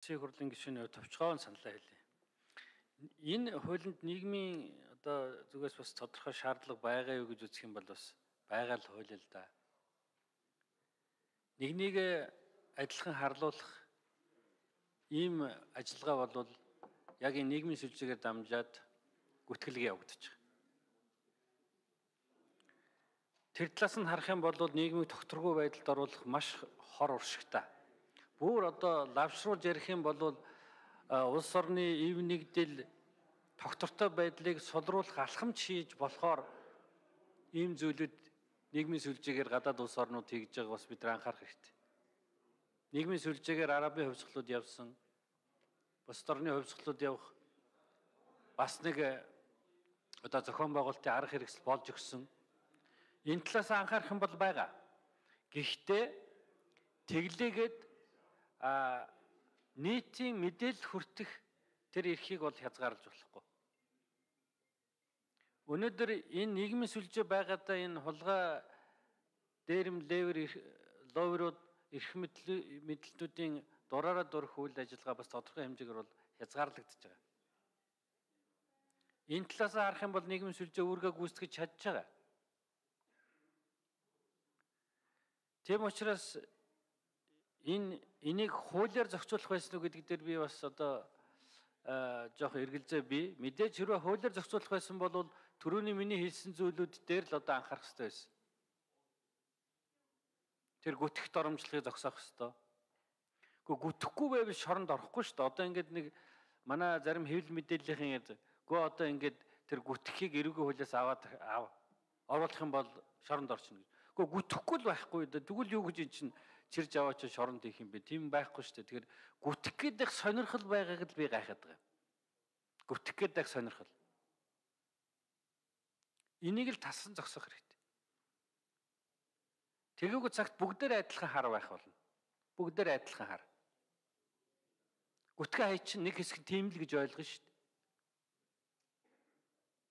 Улсын хурлын гишүүний товчхон саналаа хэлье. Энэ хуулинд нийгмийн одоо зүгээс бас тодорхой шаардлага байгаа юу гэж үзэх юм бол бас байгаа л хууль л да. Нэг адилхан харлуулах ийм ажиллагаа бол яг энэ нийгмийн сүлжээгээр дамжаад гүтгэлэг явагдаж байгаа. Тэр талаас нь харах юм бол нийгмийг тогтворгүй байдалд оруулах маш хор уршигтай. Бүр одоо лавшруулж ярих юм бол улс орны ив нэгдэл тогтвортой байдлыг сулруулах алхамж хийж болохоор ийм зүйлүүд нийгмийн сүлжээгээр гадаад улс орнууд хийж байгааг бас бид анхаарах хэрэгтэй. Нийгмийн сүлжээгээр арабын хувьсгалууд явсан, бусад орны хувьсгалууд явах бас нэг одоо зохион байгуулалтын арга хэрэгсэл болж өгсөн. Энэ талаас анхаарах юм бол байгаа. Гэхдээ тэглээгээд нийтийн мэдээлэл хүртэх тэр эрхийг бол хязгаарлаж болохгүй. Өнөөдөр энэ нийгмийн сүлжээ байгаадаа энэ хулгай дээрэм ловерууд эрх мэдлэлтүүдийн дураараа дурах үйл ажиллагаа бас тодорхой хэмжээгээр бол хязгаарлагдаж байгаа. Энэ талаас харах юм бол нийгмийн сүлжээ үүргээ гүйцэтгэж чадж байгаа. Тийм учраас энийг хуулиар зохицуулах байсан уу гэдэг дээр би бас одоо жоох эргэлзээ бий. Мэдээж хэрвээ хуулиар зохицуулах байсан бол түрүүний миний хэлсэн зүйлүүд дээр л одоо анхаарах хэрэгтэй байсан. Тэр гүтгэх доромжлогыг зогсоох хэрэгтэй. Гэхдээ гүтгэхгүй байвал шоронд орохгүй шүү дээ. Одоо ингээд нэг манай зарим хэвлэл мэдээллийн одоо ингээд тэр гүтгэхийг эрүүгийн хуулиас аваад оруулах юм бол шоронд орчихно гэж. Гэхдээ гүтгэхгүй л байхгүй дээ. Тэгвэл юу гэж эн чинь чирж аваач шоронд хийх юм бэ? Тийм байхгүй шүү дээ. Тэгэхээр гүтэх гэдэг сонирхол байгааг л би гайхаад байгаа. Гүтэх гэдэг сонирхол. Энийг л тассан зогсоох хэрэгтэй. Тэгээгүү цагт бүгдээр адилхан хар байх болно. Бүгдээр адилхан хар. Гүтгэх хай чинь нэг хэсэг тийм л гэж ойлгоно шүү дээ.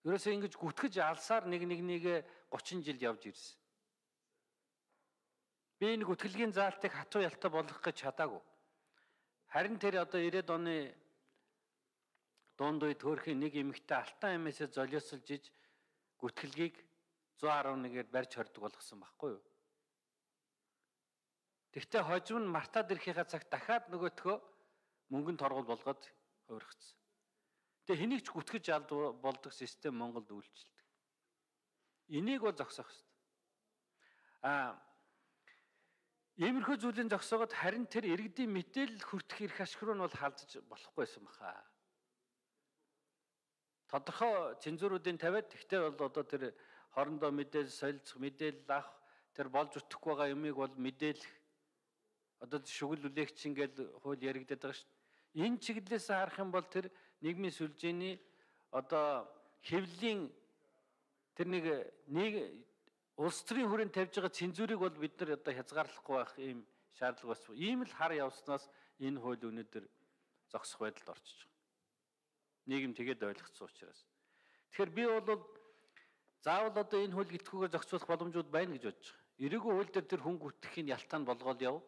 Ерөөсөө ингэж гүтгэж алсаар нэг 30 жил явж ирсэн. Би энэ гүтгэлгийн заалтыг хатуу ялтай болгох гэж чадаагүй. Харин тэр одоо 90-ад оны дунд үе төөрхийн нэг эмэгтэй алтан амиасаа золиосолж иж гүтгэлгийг 111-ээр барьж хордог болгосон байхгүй юу? Тэгвэл хожим нь мартаад ирэхийнхаа цагт дахиад нөгөөтгөө мөнгөнд торгол болгоод хувиргацсан. Тэгээ хэнийг ч гүтгэж болдог систем Монголд үйлчилдэг. Энийг бол зогсоох хэрэгтэй. Иймэрхүү зүйлийн зогсоогод харин тэр иргэдийн мэдээлэл хүртэх эрх ашиг руу нь бол халдаж болохгүйсэн баха. Тодорхой цензуруудын тавиад тэгтээ бол одоо тэр хоорондоо мэдээлэл солилцох, мэдээлэл авах, тэр болж өтөхгүй байгаа юмыг бол мэдээлэх. Одоо шүгэл үлээгч ингээл хууль яригдаад байгаа шүү дээ. Энэ чиглэлээс харах юм бол тэр нийгмийн сүлжээний одоо хэвлэлийн тэр нэг улс төрийн хүрээнд тавьж байгаа цензурыг бол бид нар одоо хязгаарлахгүй байх ийм шаардлага бас. Ийм л хар явснаас энэ хууль өнөөдөр зогсох байдалд орчиж байгаа. Нийгэм тэгээд ойлгоцсон учраас. Тэгэхээр би бол заавал одоо энэ хууль гитгүүгээр зохицуулах боломжууд байна гэж бодож байгаа. Эрүүгийн хууль дээр тэр хүн гүтгэхийн ялтаанд болгоод яв.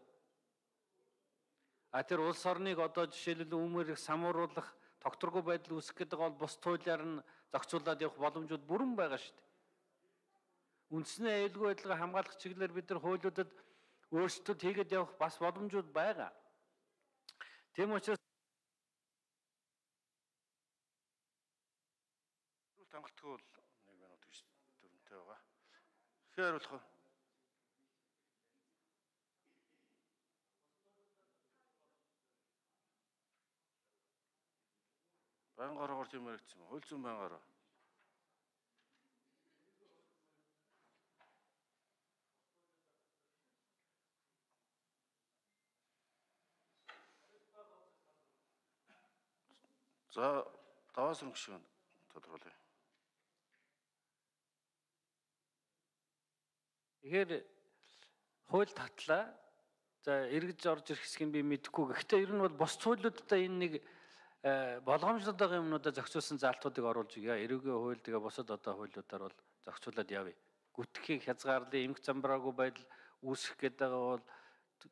Тэр улс орныг одоо жишээлбэл өмнөрийг самууруулах, тогтворгүй байдал үүсгэх гэдэг бол бус хуулиар нь зохицуулаад явах боломжууд бүрэн байгаа шүү дээ. Үндснээ аюулгүй байдлыг хамгаалах чиглэлээр бид нар хуулиудад өөрсдөд хийгээд явах бас боломжууд байгаа. Тийм учраас хангалтгүй бол 1 минут гэж дүрмтэй байгаа. Тэгэхээр хариулах уу? Байнгаараар тийм яригдсан юм. Хууль зүйн байнгаараа. За, даваас нь гүшүүн тодруулъя. Тэгэхээр хууль татлаа. За, эргэж орж ирэх хэсгийг би мэдэхгүй. Гэхдээ ер нь бол бос хуулиудаа энэ нэг болгоомжлоод байгаа юмнуудаа зохицуулсан заалтуудыг оруулж өгье. Эрүүгийн хууль тэгээ бусад одоо хуулиудаар бол зохицуулаад явъя. Гүтгэхийг хязгаарлалын эмх замбраагүй байдал үүсэх гэдэг бол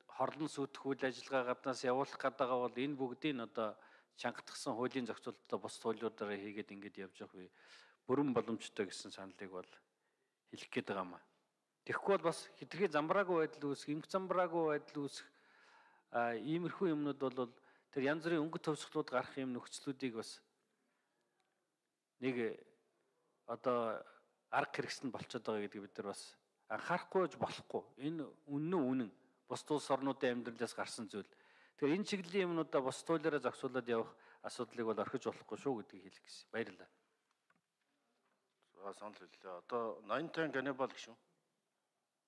хорлон сүйтгэх үйл ажиллагаа гаднаас явуулах гэдэг бол энэ бүгдийг одоо чангатгсан хуулийн зохицуулалтаа бус хуулиудаараа хийгээд ингэж явж явах би бүрэн боломжтой гэсэн саналыг бол хэлэх гээд байгаа юм а. Тэгэхгүй бол бас хитрхи замбраагүй байдал үүсэх, инх замбраагүй байдал үүсэх иймэрхүү юмнууд бол тэр янз бүрийн өнгө төвсгөлүүд гарах юм нөхцлүүдийг бас нэг одоо арга хэрэгсэл болчиход байгаа гэдгийг бид нар бас анхаарахгүйж болохгүй. Энэ үнэн бус улс орнуудын амьдралаас гарсан зүйл. Тэгэхээр энэ чиглэлийн юмнуудаа бус хуулиараа зохицуулаад явах асуудлыг бол орхиж болохгүй шүү гэдгийг хэлэх гэсэн. Баярлалаа. За санал хэллээ. Одоо 80 тань Ганнибал гişүн.